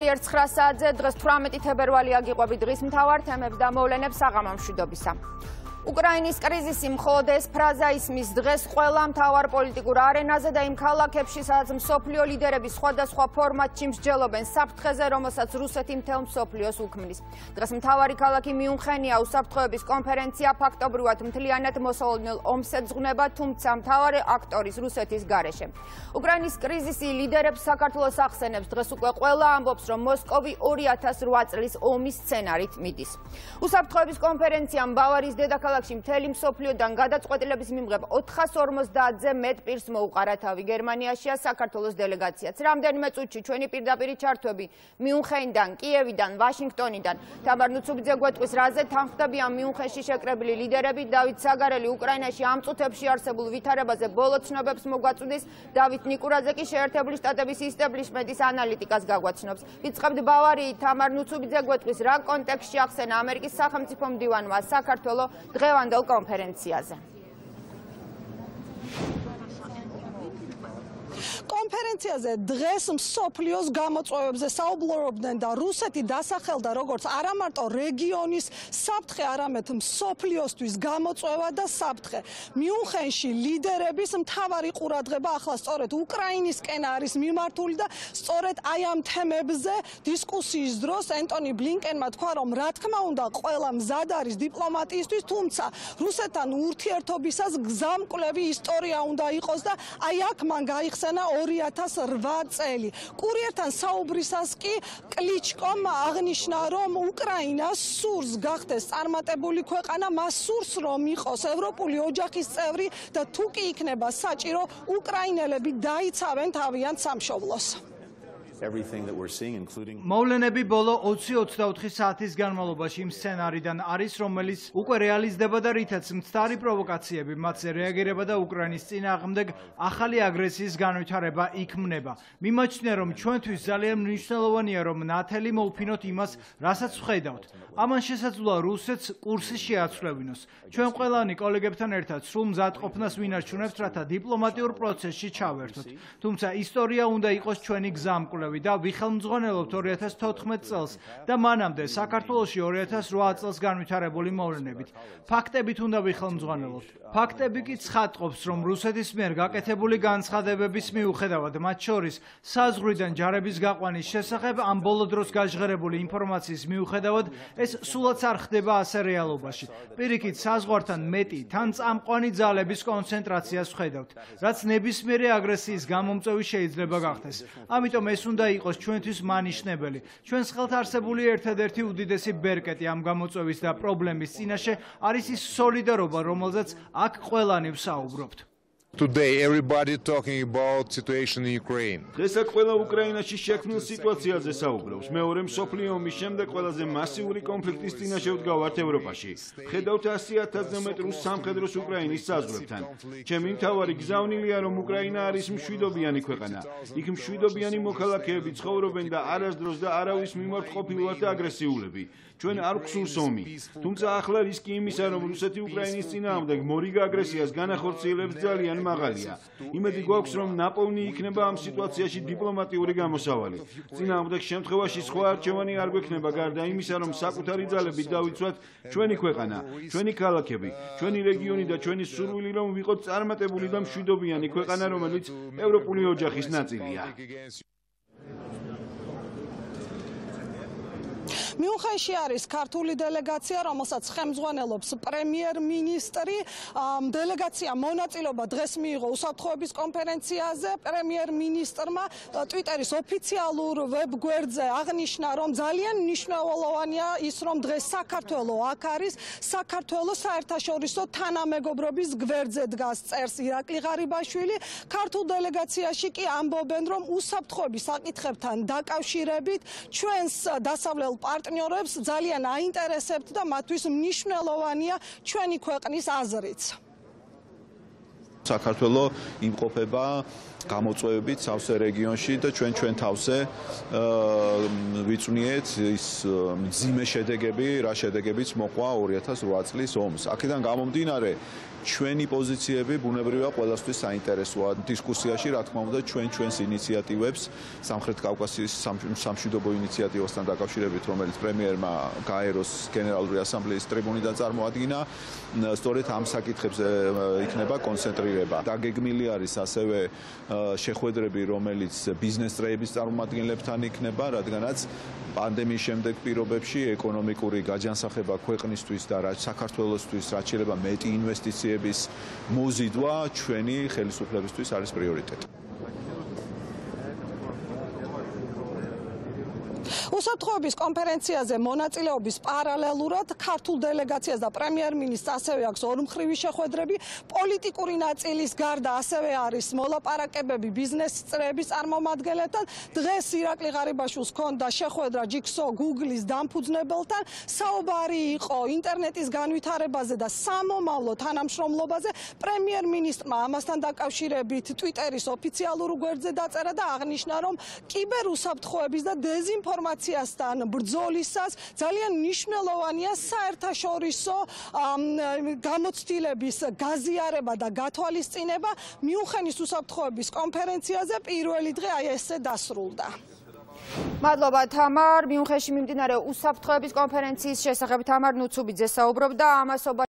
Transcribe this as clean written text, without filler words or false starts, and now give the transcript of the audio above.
9 საათზე დღეს 18 თებერვალი აგიყვები დღის მთავარ თემებს და მოვლენებს საღამო მშვიდობისა. უკრაინის კრიზისი მხოლოდ ეს ფრაზა ისმის დღეს ყველა მთავარ პოლიტიკურ არენაზე და იმ ქალაქებში, სადაც მსოფლიო ლიდერები სხვადასხვა ფორმატში მსჯელობენ საფრთხეზე, რომელსაც რუსეთი მთელ მსოფლიოს უქმნის. დღეს მთავარი ქალაქი მიუნხენია უსაფრთხოების კონფერენცია ფაქტობრივად მთლიანად მოსალოდნელ ომს ეძღვნება, თუმცა მთავარი აქტორის რუსეთის გარეშე. უკრაინის კრიზისი ლიდერებს საქართველოს ახსენებს, დღეს უკვე ყველა ამბობს, რომ მოსკოვი 2008 წლის ომის სცენარით მიდის. უსაფრთხოების კონფერენციამ ბავარიის დედაქალაქში მთელი მსოფლიოდან გადაწყვეტილების მიმღებ 450-ზე მეტ პირს მოუყარა თავი. გერმანიაშია საქართველოს დელეგაციაც. რამდენიმე წუთში ჩვენი პირდაპირი ჩართვები მიუნხენიდან, კიევიდან, ვაშინგტონიდან. თამარ ნუცუბიძე გვეტყვის, რაზე თანხმდები ამ მიუნხენში შეკრებილი ლიდერები. დავით საგარელი უკრაინაში ამ წუთებში არსებულ ვითარებაზე ბოლო ცნობებს მოგვაწვდის. დავით ნიკურაძე კი შეერთებული შტატების ისტაბლიშმენტის ანალიტიკას გაგვაცნობს. ვიწყებთ ბავარიით. თამარ ნუცუბიძე გვეტყვის, რა კონტექსტში ახსენა ამერიკის სახელმწიფო მდივანმა საქართველოს დღევანდელ კონფერენციაზე. კონფერენციაზე დღეს მსოფლიოს გამოწვევებზე საუბრობდნენ და რუსეთი დასახელდა როგორც არა მარტო რეგიონის საფრთხე, არამედ მსოფლიოსთვის გამოწვევა და საფრთხე. მიუნხენში ლიდერების მთავარი ყურადღება ახლა სწორედ უკრაინისკენ არის მიმართული და სწორედ აი ამ თემებზე დისკუსიის დროს ენტონი ბლინკენმა თქვა, რომ რა თქმა უნდა ყველა მზად არის დიპლომატიისთვის, თუმცა რუსეთთან ურთიერთობისას გზამკვლევი ისტორია უნდა იყოს და აი აქ მან გაიხსენა 2008 წელი. კურიერთან საუბრისას კი კლიჩკომ აღნიშნა, რომ უკრაინა სურს გახდეს წარმატებული ქვეყანა, მას სურს რომ იყოს ევროპული ოჯახის წევრი და თუ კი იქნება საჭირო, უკრაინელები დაიცავენ თავიანთ სამშობლოს. მოვლენები ბოლო 20-24 საათის განმავლობაში იმ სცენარიდან არის, რომელიც უკვე რეალიზდება და რითაც მცდარი პროვოკაციები, მათზე რეაგირება და უკრაინის წინააღმდეგ ახალი აგრესიის განვითარება იქმნება. მიმაჩნია, რომ ჩვენთვის ძალიან მნიშვნელოვანია, რომ ნათელი მოვფინოთ იმას, რასაც ვხედავთ. ამან შესაძლოა რუსეთს კურსი შეაცვლევინოს. ჩვენ ყველანი კოლეგებთან ერთად სრულ მზადყოფნას ვინარჩუნებთ, რათა დიპლომატიურ პროცესში ჩავერთოთ. თუმცა ისტორია უნდა იყოს ჩვენი გზამკვლევი და ვიხელმძღვანელობთ 2014 წელს და მანამდე საქართველოში 2008 წელს განვითარებული მოვლენებით. ფაქტებით უნდა ვიხელმძღვანელობთ. ფაქტები კი ცხადყოფს, რომ რუსეთის მიერ გაკეთებული განცხადებების მიუხედავად, მათ შორის საზღვრიდან ჯარების გაყვანის შესახებ ამ ბოლო დროს გაჟღერებული ინფორმაციის მიუხედავად, ეს სულაც არ ხდება ასე რეალობაში. პირიქით, საზღვართან მეტი თან წამყვანი ძალების კონცენტრაციას ვხედავთ, რაც ნებისმიერი აგრესიის გამომწვევი შეიძლება გახდეს. ამიტომ ეს უნდა იყოს ჩვენთვის მანიშნებელი. ჩვენს ხელთ არსებული ერთადერთი უდიდესი ბერკეტი ამ გამოწვევის და პრობლემის წინაშე არის ის სოლიდარობა, რომელზეც აქ ყველანი ვსაუბრობთ. Today everybody talking about situation in Ukraine. დღეს აქ ყველა უკრაინაში შექმნილ სიტუაციაზე საუბრობს. მეორე მსოფლიო ომის შემდეგ ყველაზე მასიური კონფლიქტის წინაშე ვდგავართ ევროპაში. ხედავთ 100,000-ზე მეტ რუს სამხედროს უკრაინის საზღვრებთან. ჩემი მთავარი გზავნილია, რომ უკრაინა არის მშვიდობიანი ქვეყანა. იქ მშვიდობიანი მოქალაქეები ცხოვრობენ და არასდროს და არავის მიმართ ყოფილვართ აგრესიულები. ჩვენ არ გვსურს ომი. თუმცა ახლა რისკი იმისა, რომ რუსეთი უკრაინის წინააღმდეგ მორიგ აგრესიას განახორციელებს ძალიან მაღალია. იმედი გვაქვს, რომ ნაპოვნი იქნება ამ სიტუაციაში დიპლომატიური გამოსავალი. წინააღმდეგ შემთხვევაში სხვა არჩევანი არ გვექნება გარდა იმისა, რომ საკუთარი ძალებით დავიცვათ ჩვენი ქვეყანა, ჩვენი ქალაქები, ჩვენი რეგიონი და ჩვენი სურვილი, რომ ვიყოთ წარმატებული და მშვიდობიანი ქვეყანა, რომელიც ევროპული ოჯახის ნაწილია. მიუნხენში არის ქართული დელეგაცია, რომელსაც ხელმძღვანელობს პრემიერ-მინისტრი. დელეგაცია მონაწილეობა დღეს მიიღო უსაფრთხოების კონფერენციაზე. პრემიერ-მინისტრმა ტვიტერის ოფიციალურ ვებგვერდზე აღნიშნა, რომ ძალიან მნიშვნელოვანია ის, რომ დღეს საქართველო აქ არის. საქართველო საერთაშორისო თანამეგობრობის გვერდზე დგას, წერს ირაკლი ღარიბაშვილი. ქართულ დელეგაციაში კი ამბობენ, რომ უსაფრთხოების საკითხებთან დაკავშირებით ჩვენს დასავლელ პარტნიორებს ძალიან აინტერესებთ და მათთვის მნიშვნელოვანია ჩვენი ქვეყნის აზრიც. საქართველო იმყოფება გამოწვევებით სავსე რეგიონში და ჩვენ თავზე ვიწვნიეთ ის მძიმე შედეგები, რა შედეგებიც მოყვა 2008 წლის ომს. აქედან გამომდინარე ჩვენი პოზიციები ბუნებრივია ყველასთვის საინტერესოა დისკუსიაში, რა თქმა უნდა, ჩვენს ინიციატივებს სამხრეთ კავკასიის სამშვიდობო ინიციატივასთან დაკავშირებით, რომელიც პრემიერმა გაეროს გენერალური ასამბლეის ტრიბუნიდან წარმოადგინა, სწორედ ამ საკითხებზე იქნება კონცენტრირება. დაგეგმილი არის ასევე შეხვედრები, რომელიც ბიზნეს წრეების წარმომადგენლებთან იქნება, რადგანაც პანდემიის შემდეგ პირობებში ეკონომიკური გაჯანსაღება ქვეყნისთვის და საქართველოსთვის რაც შეიძლება მეტი ინვესტიციების მოზიდვა ჩვენი ხელისუფლებისთვის არის პრიორიტეტი. უსაფრთხოების კონფერენციაზე მონაწილეობის პარალელურად ქართულ დელეგაციას და პრემიერ-მინისტრს ასევე აქვს ორმხრივი შეხვედრები, პოლიტიკური ნაწილის გარდა ასევე არის მოლაპარაკებები ბიზნეს წრეების წარმომადგენლებთან. დღეს ირაკლი ღარიბაშვილს ჰქონდა შეხვედრა ჯიქსო Google-ის დამფუძნებელთან, საუბარი იყო ინტერნეტის განვითარებაზე და სამომავლო თანამშრომლობაზე. პრემიერ-მინისტრმა ამასთან დაკავშირებით Twitter-ის ოფიციალურ გვერდზე დაწერა და აღნიშნა, რომ კიბერუსაფრთხოების და დეზინფორმაციასთან ბრძოლისას ძალიან მნიშვნელოვანია საერთაშორისო გამოცდილების გაზიარება და გათვალისწინება. მიუნხენის უსაფრთხოების კონფერენციაზე პირველი დღე აი ესე დასრულდა. მადლობა თამარ. მიუნხენში მიმდინარე უსაფრთხოების კონფერენციის შესახებ თამარ ნუცუბიძე საუბრობდა. ამასობა